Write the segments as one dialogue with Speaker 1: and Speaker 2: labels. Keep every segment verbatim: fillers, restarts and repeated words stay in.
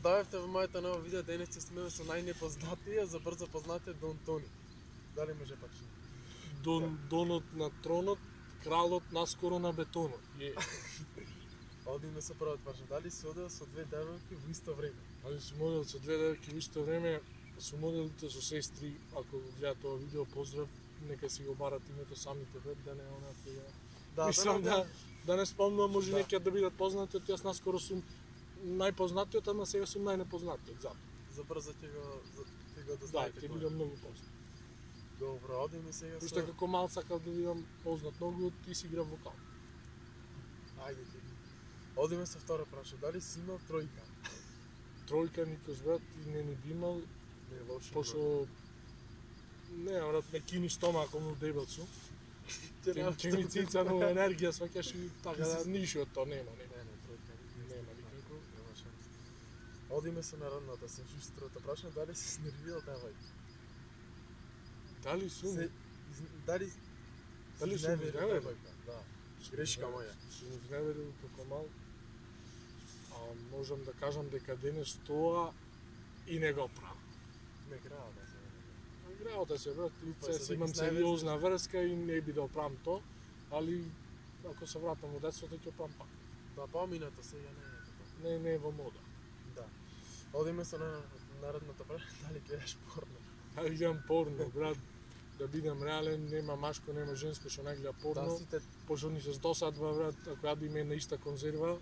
Speaker 1: дојавте во моето ново видео, денес ќе сме со најнепознатија за брзо познатиот Дон Тони. Дали може почне?
Speaker 2: Дон, донот на тронот, кралот наскоро на бетонот. Е.
Speaker 1: Одиме со првот почне. Дали си одел со две девојки во исто време?
Speaker 2: Дали сум одел со две девојки во исто време, сум оделите со сестри, ако го гледат ова видео, поздрав, нека си го барат името самите веб, да не онака ја...
Speaker 1: Да,
Speaker 2: Мислам
Speaker 1: да,
Speaker 2: да, да не спомнам, може
Speaker 1: Да.
Speaker 2: некои да бидат познати, од јас наскоро сум најпознатиот, ама сега сум најнепознатиот, затоа.
Speaker 1: За брзо ќе го за ќе го
Speaker 2: Да,
Speaker 1: дознаете.
Speaker 2: ќе
Speaker 1: кој е.
Speaker 2: бидам многу познат.
Speaker 1: Добро, одиме сега со...
Speaker 2: Уште како мал сакав да бидам познат многу, ти си играв вокал.
Speaker 1: Ајде ти. Одиме со второ прашање. Дали си имал тројка?
Speaker 2: Тројка никош брат и не ни би имал,
Speaker 1: Не е лошо.
Speaker 2: пошто не, брат, ме кини стомакот му дебел сум.
Speaker 1: Ќе
Speaker 2: Ќе
Speaker 1: нема-
Speaker 2: ќе ми цица нова енергија, сваќаш и така да ништо од тоа нема, нема.
Speaker 1: Не, не, тројка.
Speaker 2: Нема никако.
Speaker 1: Нема шанс. Одиме со народната се шестрото прашање. Дали си снервирал девојка?
Speaker 2: Дали сум?
Speaker 1: Се, из- дали
Speaker 2: Дали
Speaker 1: си
Speaker 2: сум
Speaker 1: изневерил
Speaker 2: изневерил?
Speaker 1: девојка? Да. Грешка моја.
Speaker 2: Сум изневерил како мал. А можам да кажам дека денес тоа и не го правам.
Speaker 1: Не града да се.
Speaker 2: Играоте се брат, и
Speaker 1: Па
Speaker 2: се
Speaker 1: се
Speaker 2: си имам
Speaker 1: да ги
Speaker 2: сериозна врска и не би да правам тоа, али ако се вратам во детството ќе правам пак.
Speaker 1: Да, поминато сега не е така.
Speaker 2: Не не е во мода.
Speaker 1: Да. Одиме со на- народната прашање. Дали гледаш порно?
Speaker 2: Али гледам порно, брат. Да бидам реален, нема машко, нема женско што не гледа
Speaker 1: Да,
Speaker 2: порно.
Speaker 1: сите
Speaker 2: Пошто ни се досадва, брат, ако јадиме една иста конзерва,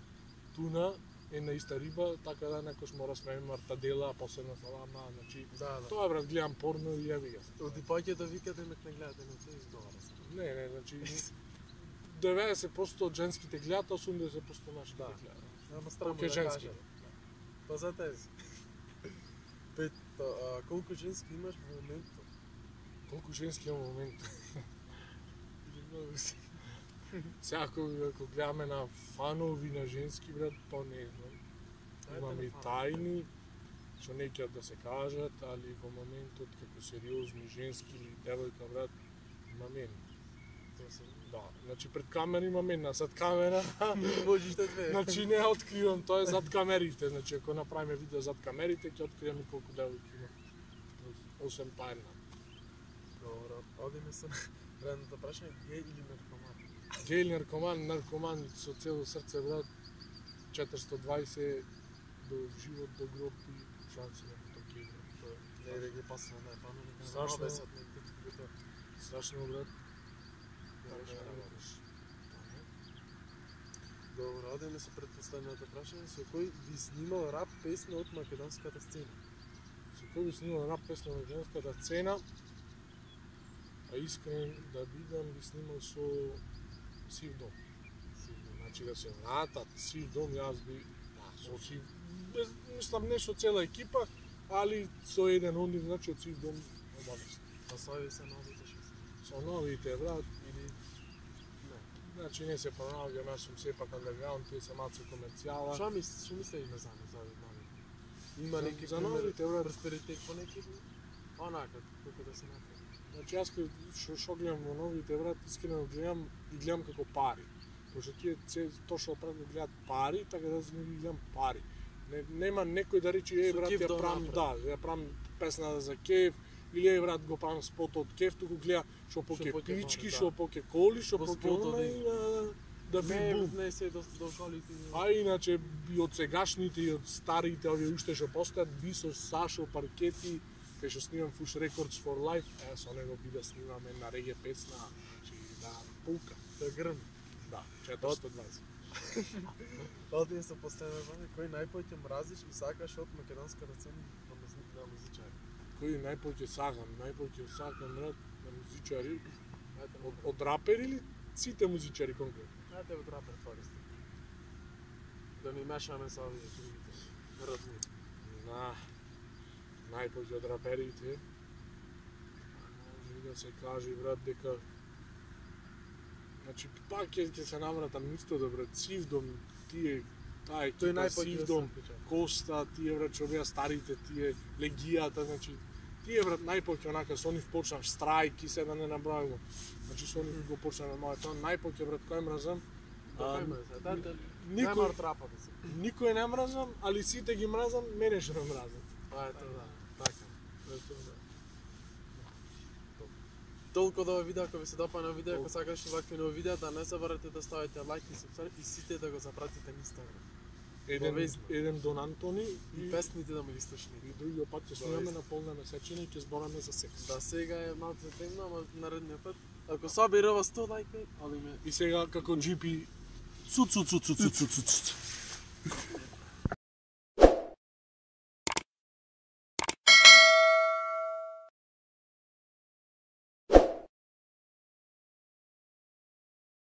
Speaker 2: туна, една иста риба, така да некош мора сме мартадела, посебна салама, значи...
Speaker 1: да, да.
Speaker 2: Тоа е, брат, гледам порно и јави ја.
Speaker 1: Оди паќе да викате ме не гледате на тоа изговара се.
Speaker 2: Не, не, значи... деветдесет проценти од женските гледаат, осумдесет проценти нашите
Speaker 1: Да.
Speaker 2: гледаат.
Speaker 1: Ама странно
Speaker 2: Колку е
Speaker 1: да
Speaker 2: женски?
Speaker 1: кажам. Па за тези. Пет, а, колку женски имаш во моментот?
Speaker 2: Колку женски имам момент. Сега ако, ако гледаме на фанови на женски, брат, па не знам. Имаме и тајни, што не ќе да се кажат, али во моментот како сериозни женски или девојка, брат, имам една.
Speaker 1: Тоа се.
Speaker 2: Да, значи пред камера имам една, зад камера,
Speaker 1: Можеш да две.
Speaker 2: значи не ја откривам, тоа е зад камерите, значи ако направиме видео зад камерите, ќе откриеме колку девојки има. Осем па една.
Speaker 1: Добро, одиме со наредното прашање, геј или наркоман?
Speaker 2: Геј или наркоман, наркоман со цело срце, брат, четиристо дваесет до живот, до гроб и шанси на токи, брат.
Speaker 1: Не, да ги пасна, не, па не, не,
Speaker 2: Страшно.
Speaker 1: обесат, не, не, не,
Speaker 2: Страшно, брат.
Speaker 1: не,
Speaker 2: Така
Speaker 1: не,
Speaker 2: да
Speaker 1: не,
Speaker 2: работиш.
Speaker 1: Добро, одиме со предпоставеното прашање, со кој би снимал рап песна од македонската сцена?
Speaker 2: Со кој би снимал рап песна на македонската сцена, а искрен да бидам, би снимал со Сив дом. Значи да се вратат Сив дом, јас би, да, со Сив, без, мислам не со цела екипа, али со еден од нив, значи од Сив дом обавест.
Speaker 1: Па сови се новите шест.
Speaker 2: Со новите, брат,
Speaker 1: Или... Не.
Speaker 2: значи не се понаоѓам, јас сум сепак андерграунд, тие се малце комерцијала.
Speaker 1: Што мислиш, што мислиш има за за нови? Има
Speaker 2: За-
Speaker 1: неки
Speaker 2: за новите, брат.
Speaker 1: просперитет по неки онака како да се направи.
Speaker 2: Значи јас кај што што гледам во новите, брат, искрено гледам и гледам како пари. Пошто тие се точно пред да гледат пари, така да се ги гледам пари. Не, нема некој да рече е
Speaker 1: Со
Speaker 2: брат
Speaker 1: кеф
Speaker 2: ја
Speaker 1: да
Speaker 2: правам,
Speaker 1: направи.
Speaker 2: да, ја правам песна за кеф или е брат го правам спот од кеф, туку гледа што поке
Speaker 1: поке
Speaker 2: пички,
Speaker 1: пари, да.
Speaker 2: што поке коли, што
Speaker 1: Во
Speaker 2: поке
Speaker 1: спотот
Speaker 2: она
Speaker 1: да
Speaker 2: и
Speaker 1: има.
Speaker 2: да, да би
Speaker 1: Не,
Speaker 2: бум.
Speaker 1: не се до до колите.
Speaker 2: А иначе и од сегашните и од старите овие уште што постојат, Бисо, Сашо, Паркети, кај што снимам Fush Records for Life, е, со него би да снимаме на реге песна, значи да пулка.
Speaker 1: Да грм.
Speaker 2: Да, четиристо дваесет.
Speaker 1: Одиме со последно време, кој најповеќе мразиш и сакаш од македонската сцена на музик на музичари?
Speaker 2: Кој најповеќе сакам, најповеќе сакам брат на музичари, од, од рапери или сите музичари конкретно?
Speaker 1: Ајде од рапер користи. Да ми мешаме со овие другите. Родни.
Speaker 2: На најповеќе од раперите. Може да се каже брат дека значи пак ќе ќе се навратам исто да брат Сивдом, тие таа
Speaker 1: Тој
Speaker 2: екипа
Speaker 1: најповеќе
Speaker 2: Сивдом,
Speaker 1: да се
Speaker 2: Коста, тие брат што беа старите, тие легијата, значи тие брат најповеќе онака со нив почнав штрајк и се да не набројувам. Значи со нив го почнав моето најповеќе брат кој мразам,
Speaker 1: Така има се. Дайте,
Speaker 2: никој-
Speaker 1: немар трапа да се.
Speaker 2: Никој не мразам, али сите ги мразам, мене што ме мразат.
Speaker 1: А ето да.
Speaker 2: Така. Ето да.
Speaker 1: Толку да видео, ако ви се допаѓа видео, ако
Speaker 2: Толку.
Speaker 1: сакаш вакви нови видеа, да не заборавате да ставите лайк и субскрайб и сите да го запратите на Инстаграм.
Speaker 2: Еден,
Speaker 1: Обавезно.
Speaker 2: еден Дон Антони
Speaker 1: И
Speaker 2: и,
Speaker 1: песните да му ги слушнете.
Speaker 2: и другиот пат ќе снимаме на полна месечина и ќе збораме за секс.
Speaker 1: Да, сега е малце темно, ама наредниот пат. Ако собира сто лајка, али ме
Speaker 2: И сега како джипи цу цу цу цу цу цу цу цу.